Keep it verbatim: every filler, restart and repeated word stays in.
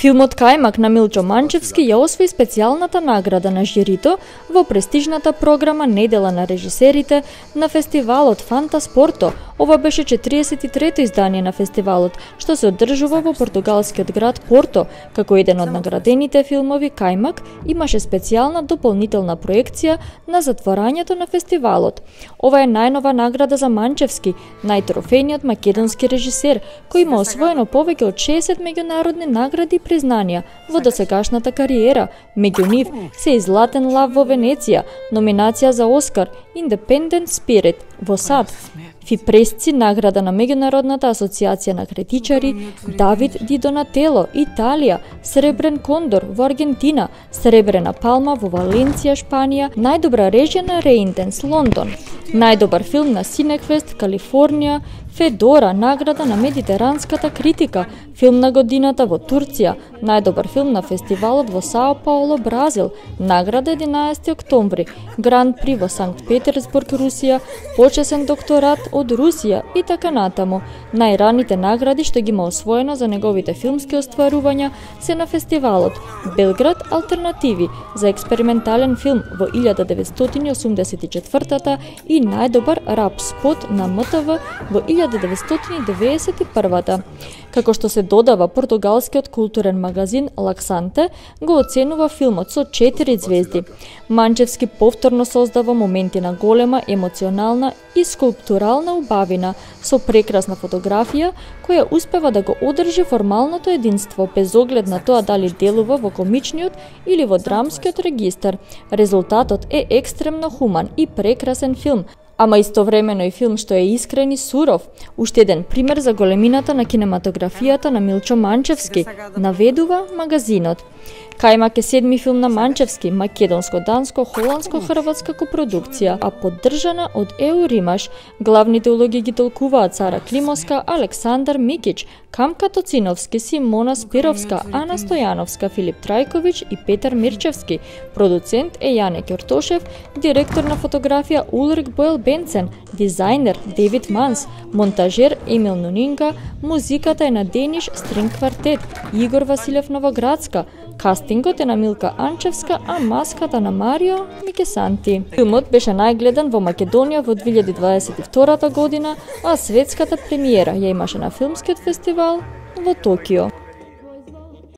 Филмот Кајмак на Милчо Манчевски ја освои специјалната награда на жирито во престижната програма Недела на режисерите на фестивалот Фанта Спорто. Ова беше четиридесет и трето издание на фестивалот, што се одржува во португалскиот град Порто. Како еден од наградените филмови, Кајмак имаше специјална дополнителна проекција на затворањето на фестивалот. Ова е најнова награда за Манчевски, најтрофејниот македонски режисер, кој има освоено повеќе од шеесет меѓународни награди и признанија во досегашната кариера. Меѓу нив се и Златен лав во Венеција, номинација за Оскар, Independent Spirit во САД, Фипресци награда на Меѓународната асоциација на критичари, Давид Ди Донатело, Италија, Сребрен кондор во Аргентина, Сребрена палма во Валенција, Шпанија, најдобра режија на Реинтенс, Лондон, најдобар филм на Синеквест, Калифорнија, Федора, награда на медитеранската критика, филм на годината во Турција, најдобар филм на фестивалот во Сао Пауло, Бразил, награда единаесети октомври, Гран При во Санкт Петерсбург, Русија, почесен докторат од Русија и така натаму. Најраните награди што ги има освоено за неговите филмски остварувања се на фестивалот Белград Алтернативи за експериментален филм во илјада деветстотини осумдесет и четвртата и најдобар рап спот на М Т В во илјада деветстотини деведесет и првата. Како што се додава, португалскиот културен магазин Лаксанте го оценува филмот со четири звезди. Манчевски повторно создава моменти на голема емоционална и скулптурална убавина со прекрасна фотографија која успева да го одржи формалното единство без оглед на тоа дали делува во комичниот или во драмскиот регистар. Резултатот е екстремно хуман и прекрасен филм, ама истовремено и филм што е искрен и суров. Уште еден пример за големината на кинематографијата на Милчо Манчевски, наведува магазинот. Кајмак е седми филм на Манчевски, македонско-данско-холандско-хрватска копродукција, а поддржана од Еуримаш. Главните улоги ги толкуваат Сара Климовска, Александар Микич, Камка Тоциновски, Симона Спировска, Ана Стојановска, Филип Трајковиќ и Петар Мирчевски. Продуцент е Јане Ќортошев, директор на фотографија Улрик Боел Бенцен, дизајнер Девид Манс, монтажер Емил Нунинга, музиката е на Дениш Стринг квартет, Игор Василев Новоградска, кастингот е на Милка Анчевска, а маската на Марио Микесанти. Филмот беше најгледан во Македонија во две илјади дваесет и втората година, а светската премиера ја имаше на филмскиот фестивал во Токио.